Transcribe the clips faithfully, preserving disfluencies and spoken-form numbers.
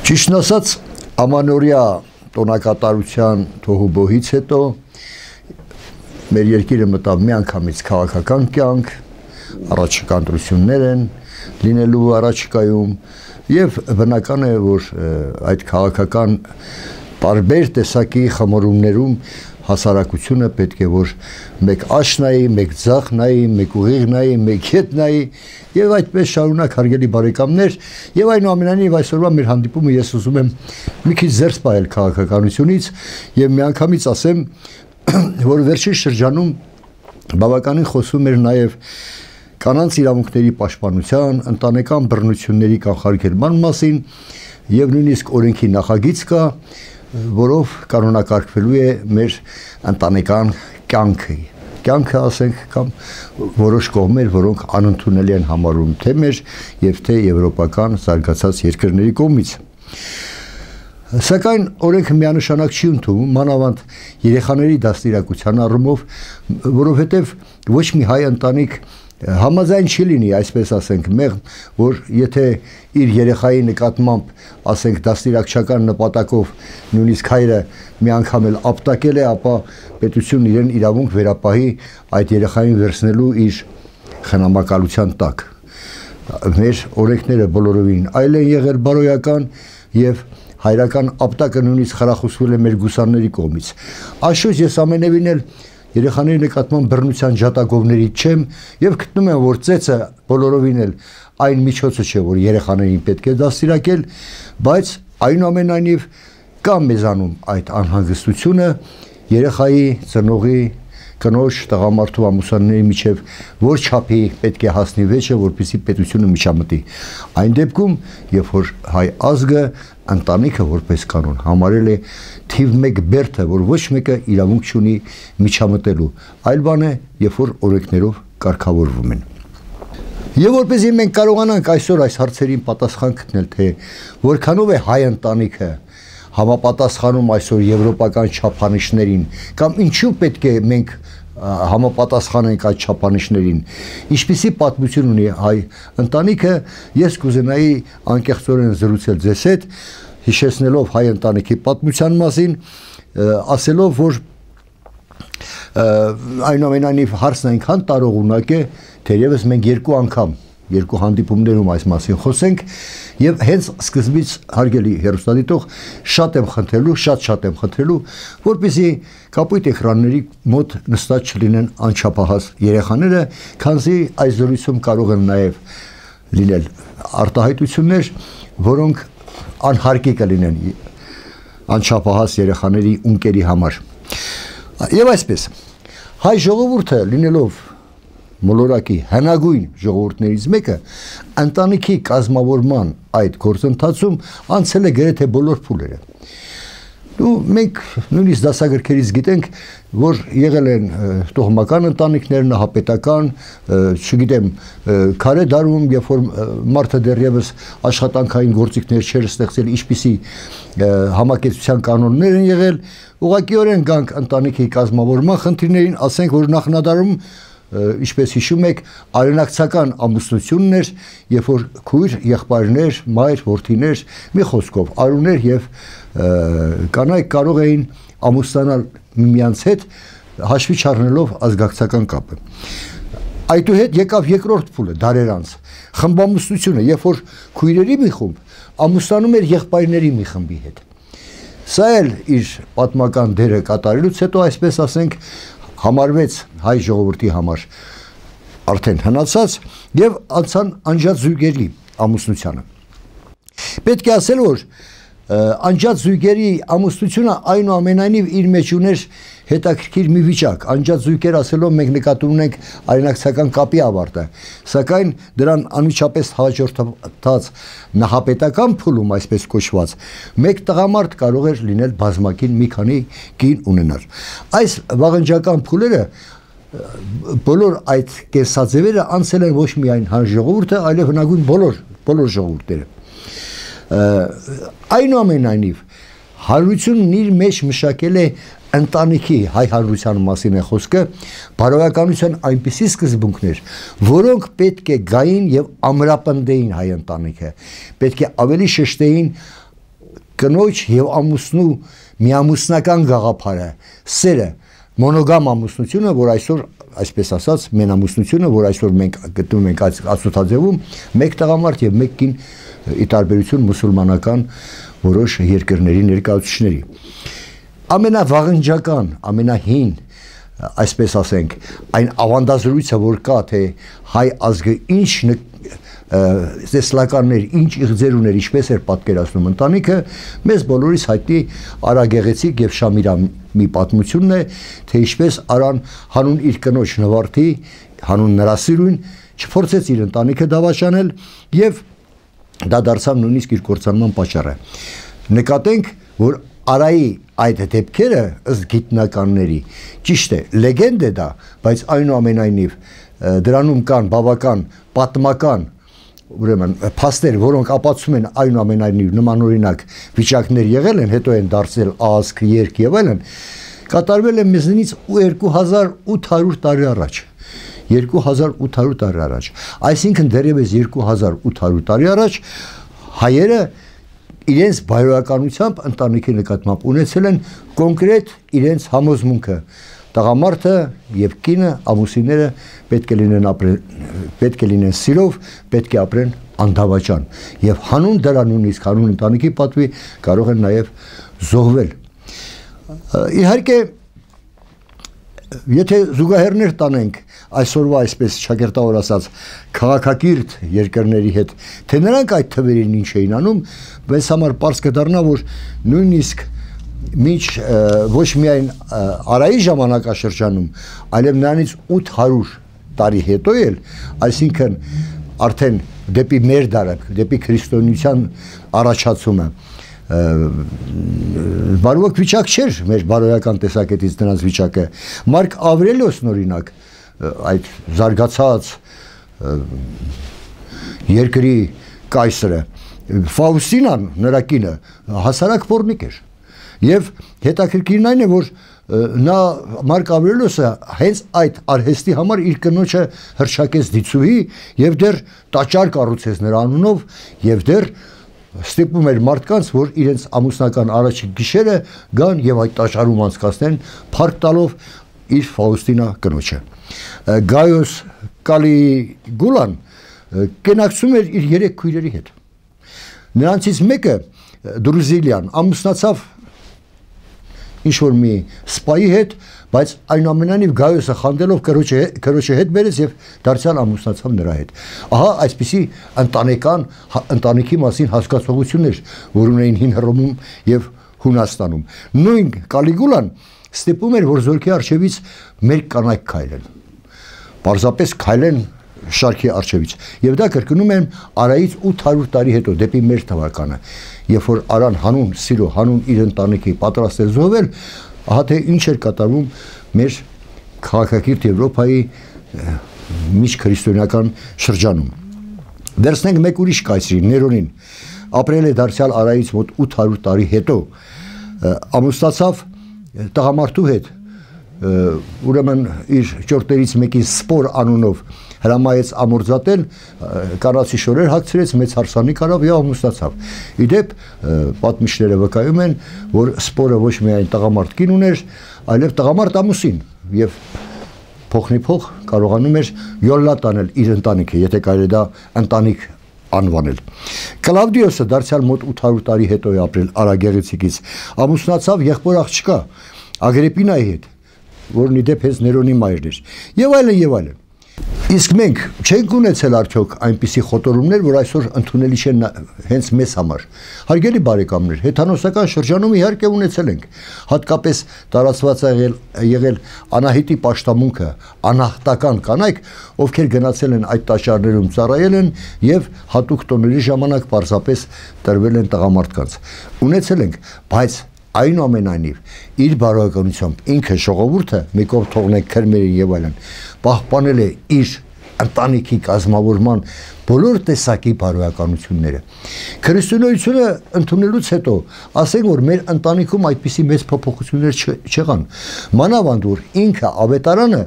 Ճիշտն ասած, ամանորյա տոնակատարության թոհուբոհից հետո մեր երկիրը մտավ միանգամից քաղաքական կյանք, առաջիկա ընտրություններ են լինելու առաջիկայում եւ բնական է, որ այդ քաղաքական տարբեր տեսակի խմորումներում հասարակությունը պետք է որ մեկ աջ նայի, մեկ ձախ նայի, մեկ ուղիղ նայի, մեկ հետ նայի եւ այդպես շարունակ հարգելի բարեկամներ եւ այնուամենայնիվ այսօրվա մեր հանդիպումը ես ուզում եմ մի քիչ զերծ պահել քաղաքականությունից եւ միանգամից ասեմ, որ վերջին շրջանում բավականին խոսում էր նաեւ կանանց իրավունքների պաշտպանության, ընտանեկան բռնությունների կանխարգելման մասին եւ նույնիսկ օրենքի նախագիծ կա, որով կանոնակարգվելու է մեր ընտանեկան կյանքը, կյանքը ասենք կամ որոշ կողմեր, որոնք անընդունելի են համարում թե մեր եւ թե եվրոպական զարգացած երկրների կողմից։ Սակայն օրենքը միանշանակ չի ընդունում, մանավանդ երեխաների դաստիարակության առումով, որովհետեւ ոչ մի հայ ընտանիք համաձայն չի լինի, այսպես ասենք, մեղմ, որ եթե իր երեխայի նկատմամբ, ասենք, դաստիարակչական նպատակով նույնիսկ հայրը մի անգամ էլ ապտակել է, ապա պետությունն իրեն իրավունք վերապահի այդ երեխային վերցնելու իր խնամակալության տակ։ Մեր օրենքները բոլորովին այլ են եղել բարոյական եւ հայրական ապտակը նույնիսկ խրախուսվել է մեր գուսանների կողմից։ Աշխույժ ես ամենևին էլ երեխաների նկատմամբ բռնության ջատագովներից չեմ եւ գտնում եմ, որ ծեծը բոլորովին էլ այն միջոցը չէ, որ երեխաներին պետք է դաստիարակել, բայց այնուամենայնիվ կա մեզանում այդ անհանգստությունը երեխայի ծնողի կնոջ տղամարդու ամուսանների միջև որ չափի պետք է հասնի վեճը, որպեսզի պետությունը միջամտի։ Այն դեպքում, երբ որ հայ ազգը ընտանիքը որպես կանոն համարել է թիվ մեկ բերդը, որ ոչ մեկը իրավունք չունի միջամտելու, այլ բան է, երբ որ օրենքներով կարգավորվում են։ Եվ որպեսզի մենք կարողանանք այսօր այս հարցերին պատասխան գտնել, թե որքանով է հայ ընտանիքը համապատասխանում այսօր եվրոպական չափանիշներին, կամ ինչու պետք է մենք համապատասխանենք այդ չափանիշներին, ինչպիսի պատմություն ունի հայ ընտանիքը, ես կուզենայի անկեղծորեն զրուցել ձեզ հետ, հիշեցնելով հայ ընտանիքի պատմության մասին, ասելով, որ այնուամենայնիվ հարցն այնքան տարողունակ է, թերևս մենք երկու անգամ երկու հանդիպումներում այս մասին խոսենք եւ հենց սկզբից հարգելի հեռուստադիտող շատ եմ խնդրելու, շատ շատ եմ խնդրելու, որպեսզի կապույտ էկրանների մոտ նստած չլինեն անչափահաս երեխաները, քանզի այս զրույցում կարող են նաեւ լինել արտահայտություններ, որոնք անհարկի կլինեն անչափահաս երեխաների ունկերի համար։ Եվ այսպես, հայ ժողովուրդը լինելով մոլորակի հնագույն ժողովուրդներից մեկը ընտանիքի կազմավորման այդ գործընթացում անցել է գրեթե բոլոր փուլերը։ Ու մենք նույնիսկ դասագրքերից գիտենք, որ եղել են տոհմական ընտանիքներ, նահապետական, չգիտեմ, քարե դարում, երբ որ մարդը դեռևս աշխատանքային գործիքներ չէր ստեղծել, ինչպիսի համակեցության կանոններ են եղել, ուղղակիորեն գանք ընտանիքի կազմավորման խնդիրներին, ասենք, որ նախնադարում ինչպես հիշում եք, արենակցական ամուսնությունն էր, երբ որ քույր, եղբայրներ, մայր, որդիներ, մի խոսքով արուներ եւ կանայք կարող էին ամուսնանալ միմյանց հետ, հաշվի չառնելով ազգակցական կապը։ Այդուհետ եկավ երկրորդ փուլը, դարեր անց, խմբամուսնությունը, երբ որ քույրերի մի խումբ ամուսնանում էր եղբայրների մի խմբի հետ։ Սա էլ իր պատմական դերը կատարելուց հետո, այսպես ասենք, համարվեց հայ ժողովրդի համար արդեն հնացած եւ անցան անջատ զույգերի ամուսնությանը։ Պետք է ասել, որ անջատ զույգերի ամուսնությունը այնուամենայնիվ իր մեջ ուներ հետաքրքիր մի վիճակ, անջատ զույգեր ասելով մենք նկատի ունենք արենակցական կապի ավարտը, սակայն դրան անմիջապես հաջորդած նահապետական փուլում, այսպես կոչված, մեկ տղամարդ կարող էր լինել բազմակին մի քանի կին ունենալ։ Այս վաղնջական փուլերը բոլոր այդ կենսաձևերը անցել են ոչ միայն հայ ժողովուրդը, այլև հնագույն բոլոր բոլոր ժողովուրդները։ Այնուամենայնիվ հարությունն իր մեջ մշակել է ընտանիքի հայ հարության մասին է խոսքը, բարոյականության այնպիսի սկզբունքներ, որոնք պետք է գային եւ ամրապնդեին հայ ընտանիքը, պետք է ավելի շեշտեին կնոջ եւ ամուսնու միամուսնական գաղափարը, սերը, մոնոգամ ամուսնությունը, որ այսօր այսպես ասած մենամուսնությունը, որ այսօր մենք գտնում ենք Ածութաձևում, մեկ տղամարդ եւ մեկ կին ի տարբերություն մուսուլմանական որոշ երկրների ներկայացուցիչների։ Ամենավաղնջական, ամենահին, այսպես ասենք, այն ավանդազրույցը, որ կա, թե հայ ազգը ինչ տեսլականներ, ինչ իղձեր ուներ, ինչպես էր պատկերացնում ընտանիքը, մեզ բոլորիս հայտնի Արագեղեցիկ եւ Շամիրամի պատմությունն է, թե ինչպես Արան հանուն իր կնոջ նվարդի, հանուն նրա սիրուն, չփորձեց իր ընտանիքը դավաճանել եւ դա դարձավ նույնիսկ իր կործանման պատճառը։ Նկատենք, որ Արայի այդ դեպքերը ըստ գիտնականների ճիշտ է, լեգենդ է դա, բայց այնուամենայնիվ դրանում կան բավական պատմական ուրեմն փաստեր, որոնք ապացուցում են այնուամենայնիվ նմանօրինակ վիճակներ եղել են, հետո են դարձել ազգ, երկ եւ այլն, կատարվել է մեզնից երկու հազար ութ հարյուր տարի առաջ։ երկու հազար ութ հարյուր տարի առաջ։ Այսինքն դեռևս երկու հազար ութ հարյուր տարի առաջ հայերը իրենց բարոյականությամբ ընտանիքի նկատմամբ ունեցել են կոնկրետ իրենց համոզմունքը։ Տղամարդը եւ կինը, ամուսինները պետք է լինեն ապրեն, պետք է լինեն սիրով, պետք է ապրեն անդավաճան եւ հանուն դրա նույնիսկ հանուն ընտանիքի պատվի կարող են նաեւ զոհվել։ Իհարկե, եթե զուգահեռներ տանենք այսօրվա այսպես շակերտավոր ասած քաղաքակիրթ երկրների հետ, թե նրանք այդ թվերին ինչ էին անում, բայց համար պարզ կդառնա, որ նույնիսկ մինչ ոչ միայն Արայի ժամանակաշրջանում, այլև նրանից ութ հարյուր տարի հետո էլ, այսինքն արդեն դեպի մեր դարը, դեպի քրիստոնեության առաջացումը, բարոյակ վիճակ չէր մեր բարոյական տեսակետից նրանց վիճակը։ Մարկ Ավրելիոսն օրինակ այդ զարգացած երկրի կայսրը Ֆաուստինան նրա կինը հասարակ փորնիկ էր եւ հետաքրքիրն այն է որ նա Մարկ Ավրելիոսը հենց այդ արհեստի համար իր կնոջը հրճակեց դիցուհի եւ դեռ տաճար կառուցեց նրա անունով եւ դեռ ստիպում էր մարդկանց, որ իրենց ամուսնական առաջին գիշերը գան եւ այդ տաճարում անցկացնեն, փառք տալով իր Ֆաուստինա կնոջը։ Գայոս Կալիգուլան կենակցում էր իր երեք քույրերի հետ։ Նրանցից մեկը Դրուզիլյան ամուսնացավ ինչ-որ մի սպայի հետ, բայց այնուամենայնիվ Գայոսը խանդելով կրոջը հետ բերեց եւ դարձյալ ամուսնացավ նրա հետ։ Ահա այսպիսի ընտանեկան ընտանիքի մասին հասկացողություններ, որ ունեին հին Հռոմում եւ Հունաստանում։ Նույն Կալիգուլան ստիպում էր, որ զորքի արչեվից մեր կանայք քայլեն։ Պարզապես քայլեն շարքի արչեվից։ Եվ դա կրկնում են Արայից ութ հարյուր տարի հետո, դեպի մեր թվականը, երբ որ Արան հանուն սիրո, հանուն իր ընտանիքի պատրաստ էր զոհվել, ահա թե ինչ էր կատարվում մեր քաղաքակիրթ Եվրոպայի միջքրիստոնեական շրջանում։ Վերցնենք մեկ ուրիշ կայսրի, Ներոնին, ապրել է դարձյալ Արայից մոտ ութ հարյուր տարի հետո, ամուսնացավ տղամարդու հետ, ուրեմն իր ճորտերից մեկին Սպոր անունով հրամայեց ամորձատել, կանացի շորեր հագցրեց, մեծ հարսանիք արավ եւ ամուսնացավ։ Իդեպ պատմիչները վկայում են, որ Սպորը ոչ միայն տղամարդ կին ուներ, այլև տղամարդ ամուսին եւ փոխնի փող կարողանում էր յոլլա տանել իր ընտանիքը, եթե կարելի դա ընտանիք անվանել։ Կլավդիոսը դարձյալ մոտ ութ հարյուր տարի հետո է ապրել Արագեղեցիկից, ամուսնացավ եղբոր աղջկա Ագրիպինայի հետ, որն իդեպ հենց Ներոնի մայրն էր, եւ այլն եւ այլն։ Իսկ մենք չենք ունեցել արդյոք այնպիսի խոտորումներ, որ այսօր ընդունելի չեն հենց մեզ համար։ Հարգելի բարեկամներ, հեթանոսական շրջանում իհարկե ունեցել ենք, հատկապես տարածված է եղել, եղել Անահիտի պաշտամունքը, անահտական կանայք, ովքեր գնացել են այդ տաճարներում ծառայել են եւ հատուկ տոների ժամանակ պարզապես տրվել են տղամարդկանց։ Ունեցել ենք, բայց այնուամենայնիվ իր բարոյականությամբ ինքը ժողովուրդը մի կողմ թողնենք քրմերին եւ այլն, պահպանել է իր ընտանիքի կազմավորման բոլոր տեսակի բարոյականությունները։ Քրիստոնեությունը ընդունելուց հետո ասենք որ մեր ընտանիքում այդպիսի մեծ փոփոխություններ չեղան։ Մանավանդ որ ինքը ավետարանը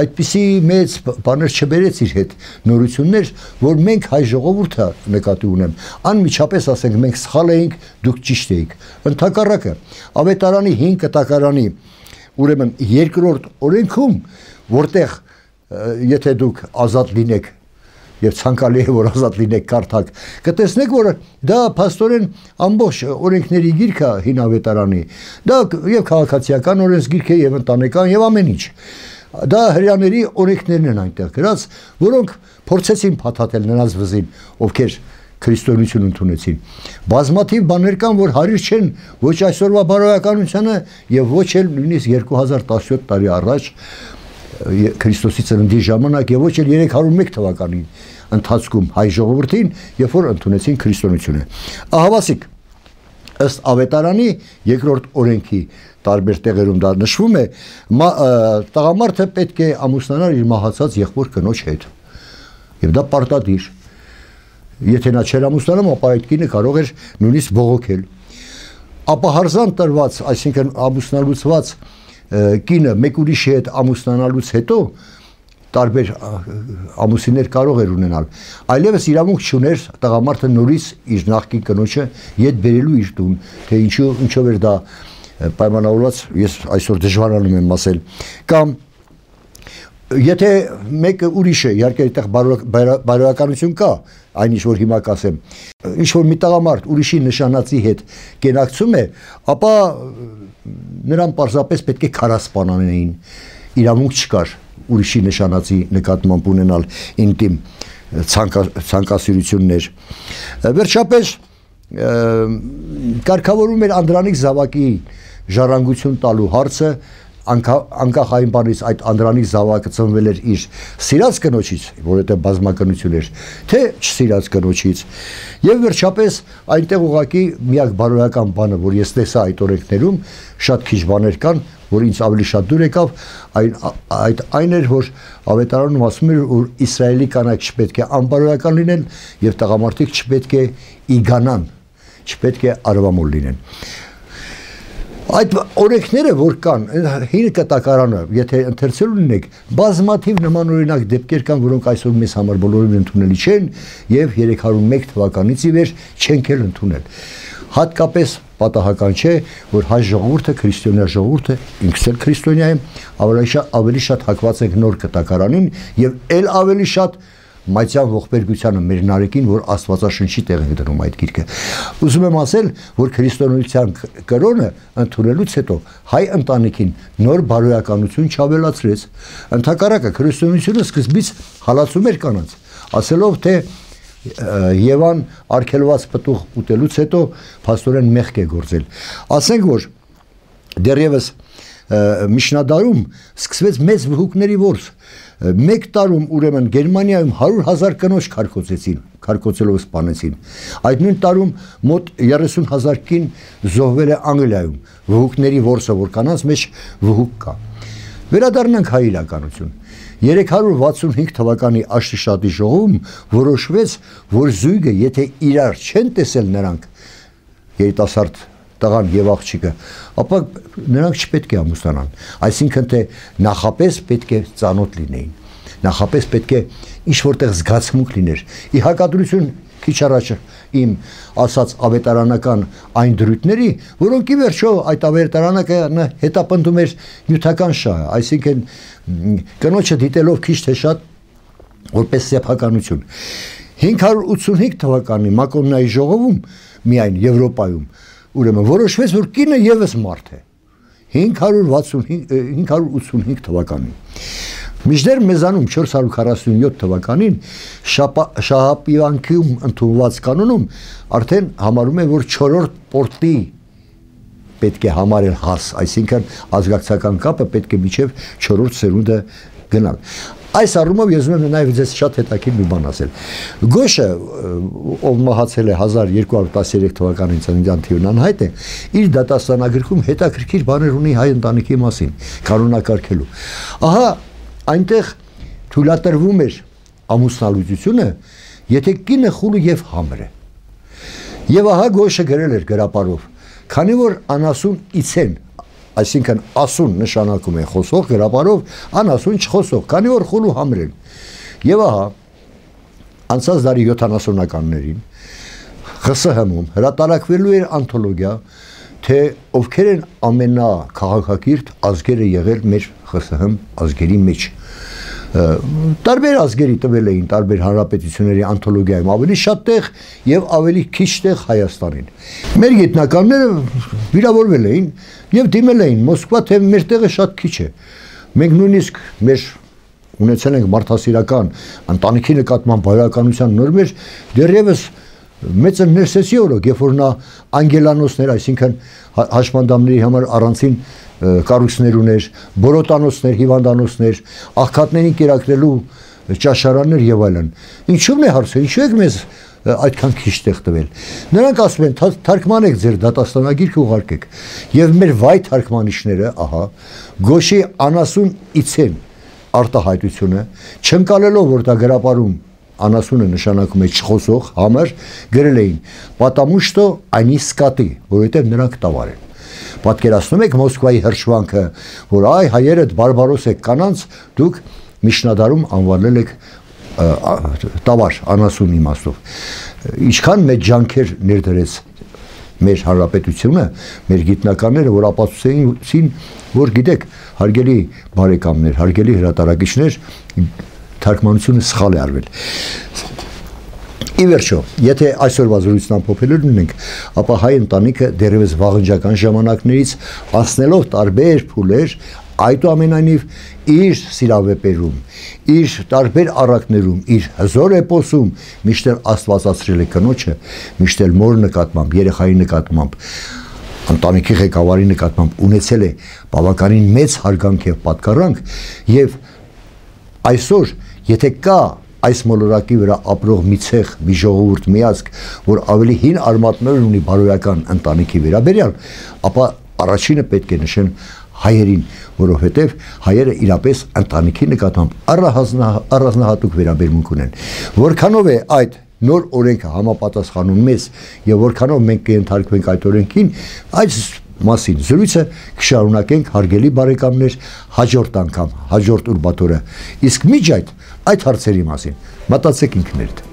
այդպիսի մեծ բաներ չբերեց իր հետ նորություններ, որ մենք հայ ժողովուրդը նկատի ունեմ, անմիջապես ասենք մենք սխալ էինք, դուք ճիշտ էիք։ Ընդհակառակը ավետարանի հին կտակարանի ուրեմն երկրորդ օրենքում, որտեղ եթե դուք ազատ լինեք եւ ցանկալի է որ ազատ լինեք կարդաք, կտեսնեք որ դա փաստորեն ամբողջ օրենքների գիրքը հին ավետարանի, դա եւ քաղաքացիական օրենսգիրք է եւ ընտանեկան եւ ամեն ինչ։ Դա հрьяաների օրենքներն են այնտեղ գրած, որոնք փորձեցին փաթաթել նրանց վզին, ովքեր քրիստոնեություն ընդունեցին։ Բազմաթիվ բաներ կան, որ հարիր չեն ոչ այսօրվա բարոյականությանը եւ ոչ էլ նույնիսկ երկու հազար տասնյոթ տարի առաջ Քրիստոսի ծննդի ժամանակ եւ ոչ էլ երեք հարյուր ու մեկ թվականին ընթացքում հայ ժողովրդին, երբ որ ընդունեցին քրիստոնեությունը։ Ահավասիկ ըստ ավետարանի երկրորդ օրենքի տարբեր տեղերում դա նշվում է, տղամարդը պետք է ամուսնանար իր մահացած եղբոր կնոջ հետ։ Եվ դա պարտադիր։ Եթե նա չէր ամուսնանում, ապա այդ կինը կարող էր նույնիսկ բողոքել։ Ապահարզան տրված, այսինքն ամուսնալուծված կինը մեկ ուրիշի հետ ամուսնանալուց հետո տարբեր ամուսիններ կարող էր ունենալ, այլևս իրավունք չուներ տղամարդը նորից իր նախկին կնոջը ետ բերելու իր տուն, թե ինչու ինչով էր դա պայմանավորված, ես այսօր դժվարանում եմ ասել, կամ եթե մեկը ուրիշը, իհարկե այդտեղ բարոյականություն կա, այն ինչ որ հիմա կասեմ, ինչ որ մի տղամարդ ուրիշի նշանածի հետ կենակցում է, ապա նրան պարզապես պետք է քարասպանանեին, իրավունք չկար ուրիշի նշանածի նկատմամբ ունենալ ինտիմ ցանկասիրություններ։ Վերջապես կարգավորում էր Անդրանիկ Զավակի ժառանգություն տալու հարցը, անկախ այն բանից այդ Անդրանիկ Զավակը ծնվել էր իր սիրած կնոջից, որովհետև բազմակնություն էր, թե չսիրած կնոջից։ Եվ վերջապես այնտեղ ուղղակի միակ բարոյական բանը, որ ես տեսա այդ օրենքներում, շատ քիչ բաներ կան, որ ինձ ավելի շատ դուր եկավ, այդ այն էր, որ ավետարանում ասում էր, որ Իսրայելի կանայք չպետք է անբարոյական լինեն եւ տղամարդիկ չպետք է իգանան, չպետք է արվամոլ լինեն։ Այդ օրենքները որ կան, հին կտակարանը, եթե ընթերցելու լինեք, բազմաթիվ նմանօրինակ դեպքեր կան, որոնք այսօր մեզ համար բոլորովին ընդունելի չեն եւ երեք հարյուր ու մեկ թվականից ի վեր չենք էլ ընդունել։ Հատկապես պատահական չէ, որ հայ ժողովուրդը, քրիստոնյա ժողովուրդը, ինքս էլ քրիստոնյա եմ, ավելի շատ հակված ենք նոր կտակարանին եւ ել ավելի շատ Մայցյան ողբերգությանը մեր նարեկին, որ Աստվածաշնչի տեղ ենք դնում այդ գիրքը։ Ուզում եմ ասել, որ քրիստոնեության կրոնը ընդունելուց հետո հայ ընտանիքին նոր բարոյականություն չավելացրեց։ Ընդհակառակը քրիստոնեությունը սկզբից հալածում էր կանանց, ասելով թե Եվան արգելված պտուղ ուտելուց հետո փաստորեն մեղք է գործել։ Ասենք որ դեռևս Միշնադարում սկսվեց մեծ վհուկների որս։ Մեկ տարում ուրեմն Գերմանիայում հարյուր հազար կնոջ քարկոծեցին, քարկոծելով սպանեցին։ Այդ նույն տարում մոտ երեսուն հազար կին զոհվել է Անգլիայում, վհուկների որսը, որ կանանց մեջ վհուկ կա։ Վերադառնանք հայ իրականություն։ երեք հարյուր վաթսունհինգ թվականի Աշտիշատի ժողովում որոշվեց, որ զույգը, եթե իրար չեն տեսել նրանք, երիտասարդ տղան եւ աղջիկը, ապա նրանք չպետք է ամուսնանան, այսինքն թե նախապես պետք է ծանոթ լինեին, նախապես պետք է ինչ որտեղ զգացմունք լիներ։ Ի հակադրություն քիչ առաջ իմ ասած ավետարանական այն դրույթների, որոնք ի վերջո այդ ավետարանակը հետապնդում էր նյութական շահը, այսինքն կնոջը դիտելով քիչ թե շատ որպես սեփականություն։ հինգ հարյուր ութսունհինգ թվականի Մակոննայի ժողովում միայն Եվրոպայում ուրեմն որոշվեց, որ կինը եւս մարդ է հինգ հարյուր ութսունհինգ թվականին։ Մինչդեռ մեզանում չորս հարյուր քառասունյոթ թվականին Շահապիվանքում ընդունված կանոնում արդեն համարում է, որ չորրորդ պորտի պետք է համարել հաս, այսինքն ազգակցական կապը պետք է մինչև չորրորդ սերունդը գնալ։ Այս առումով ես ուզում եմ նաև ձեզ շատ հետաքրքիր մի բան ասել։ Գոշը, ով մահացել է հազար երկու հարյուր տասներեք թվականին ծննդյան թիվն անհայտ է, իր դատաստանագրքում հետաքրքիր բաներ ունի հայ ընտանիքի մասին, կանոնակարգելու։ Ահա այնտեղ թույլատրվում էր ամուսնալուծությունը, եթե կինը խուլ եւ համր է։ Եվ ահա Գոշը գրել էր գրապարով, քանի որ անասուն իցեն, այսինքն ասուն նշանակում է խոսող, գրապարով անասուն չխոսող, քանի որ խուլ ու համր են։ Եվ ահա անցած դարի յոթանասունականներին ԽՍՀՄ-ում հրատարակվելու էր անթոլոգիա, թե ովքեր են ամենաքաղաքակիրթ ազգերը եղել մեր ԽՍՀՄ ազգերի մեջ։ Տարբեր ազգերի տվել էին տարբեր հանրապետությունների անթոլոգիայում ավելի շատ տեղ եւ ավելի քիչ տեղ Հայաստանին։ Մեր գիտնականները վիրավորվել էին եւ դիմել էին Մոսկվա, թե մեր տեղը շատ քիչ է։ Մենք նույնիսկ մեր ունեցել ենք մարդասիրական ընտանիքի նկատմամբ բարոյականության նորմեր, դեռևս մեծը ներսեսի օրոք, երբ որ նա անգելանոցներ, այսինքն հաշմանդամների համար առանցին կառույցներ ուներ, բորոտանոցներ, հիվանդանոցներ, աղքատներին կերակրելու ճաշարաններ եւ այլն։ Ինչու՞ն է հարցը, ինչու եք մեզ այդքան քիչ տեղ տվել։ Նրանք ասում են, թարգմանեք ձեր դատաստանագիրքը ուղարկեք։ Եվ մեր վայ թարգմանիչները, ահա, Գոշի անասուն իցեն արտահայտությունը, չընկալելով, որ դա գրապարում անասունը նշանակում է չխոսող, համր, գրել էին «Потому что они սկատի», որովհետև նրանք տավար են։ Պատկերացնում եք Մոսկվայի հրշվանքը, որ այ հայերը բարբարոս եք կանանց, դուք միջնադարում անվանել եք տավար, անասուն իմաստով։ Ինչքան մեծ ջանքեր ներդրեց մեր հանրապետությունը, մեր գիտնականները, որ ապացուցեցին, որ գիտեք, հարգելի բարեկամներ, հարգելի հրատարակիչներ, թարգմանությունը սխալ է արվել։ Ի վերջո, եթե այսօրվա զրույցն ամփոփելու ունենք, ապա հայ ընտանիքը դեռևս վաղնջական ժամանակներից անցնելով տարբեր փուլեր, այդուամենայնիվ իր սիրավեպերում, իր տարբեր առակներում, իր հզոր էպոսում միշտ աստվածացրել է կնոջը, միշտ մոր նկատմամբ, երեխայի նկատմամբ, ընտանիքի ղեկավարի նկատմամբ ունեցել է բավականին մեծ հարգանք եւ պատկառանք եւ այսօր եթե կա այս մոլորակի վրա ապրող մի ցեղ, մի ժողովուրդ, մի ազգ, որ ավելի հին արմատներ ունի բարոյական ընտանիքի վերաբերյալ, ապա առաջինը պետք է նշեն հայերին, որովհետև հայերը իրապես ընտանիքի նկատմամբ առանձնահատուկ վերաբերմունք ունեն։ Որքանով է այդ նոր օրենքը համապատասխանում մեզ եւ որքանով մենք կընթարկվենք այդ օրենքին, այս մասին զրույցը կշարունակենք հարգելի բարեկամներ հաջորդ անգամ, հաջորդ ուրբաթ օրը։ Իսկ միջ այդ այդ հարցերի մասին մտածեք ինքներդ։